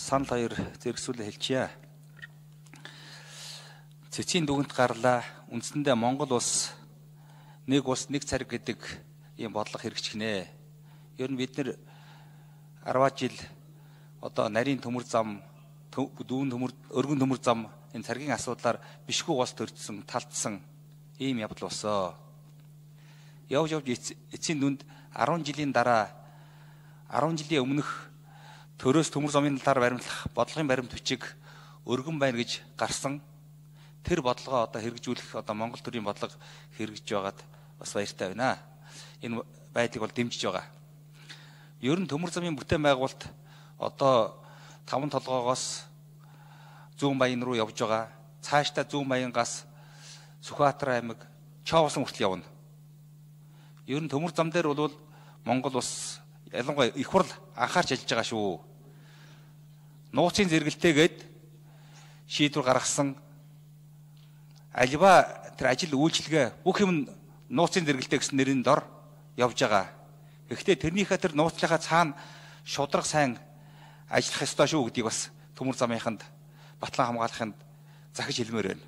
санал хоёр зэрэгсүүлээ хэлчихье. Цэцгийн дүгнэлт гарлаа. Үндсэндээ Монгол улс нэг цариг гэдэг ийм бодлого хэрэгжихнэ. Ер нь бид нэр 10 жил одоо нарийн төмөр зам, өргөн төмөр зам энэ царгийн асуудлаар бишгүй улс төржсөн, талдсан ийм явдал болсон. Явж эцсийн дүнд 10 жилийн дараа 10 жилийн өмнөх төрөөс төмөр замын талаар баримтлах бодлогын баримт бичиг өргөн байна гэж гарсан. Тэр бодлогоо одоо хэрэгжүүлэх одоо Монгол төрийн бодлого хэрэгжиж байгаад бас баяртай байна. Энэ байдлыг бол дэмжиж байгаа. Ер нь төмөр замын бүтээн байгуулалт одоо 5 толгоогоос Зүүн Баян руу явж байгаа. Цаашдаа Зүүн Баянгаас Сүхбаатар аймаг Чоовсон хүртэл явна. Ер нь төмөр зам дээр бол Монгол улс ялангуяа их хурл анхаарч ажиллаж байгаа шүү. Нууцын зэрэгэлтэйгээд шийдвэр гаргасан альва тэр ажил үйлчилгээ бүх юм нууцын зэрэгэлтэй гэсэн нэрийн дор явж байгаа. Гэхдээ тэрнийхээ тэр нууцлынхаа цаана шудраг сайн ажиллах ёстой шүү гэдгийг бас төмөр замынханд батлан хамгаалахынд захиж хэлмээр байна.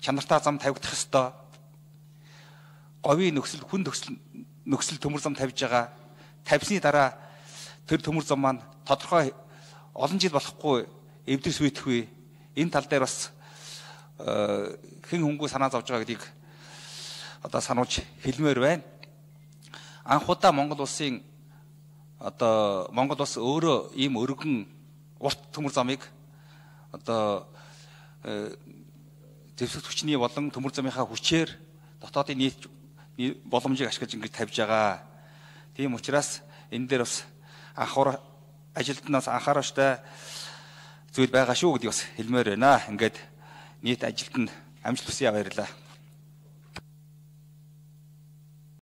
Чанартай зам тавигдах ёстой. Говийн нөхцөл, хүн нөхцөл төмөр зам тавьж байгаа. Тавьсны дараа тэр төмөр зам маань тодорхой олон жил болохгүй эвдэрс үйдэхгүй. Энэ тал дээр бас хэн хөнгөө санаа зовж байгаа гэдгийг одоо сануулж хэлмээр байна. Анх удаа Монгол улсын одоо Монгол улс өөрөө ийм өргөн урт төмөр замыг одоо зэвсэг хүчний болон төмөр замынхаа хүчээр дотоодын нийт боломжийг ашиглаж ингэж тавьж байгаа. Тийм учраас энэ дээр бас анхаарал ажилтнаас анхааруулжтай зүйл байгаа шүү гэдгийг бас хэлмээр байна. Ингээд нийт ажилд нь амжилт хүсье, баярлалаа.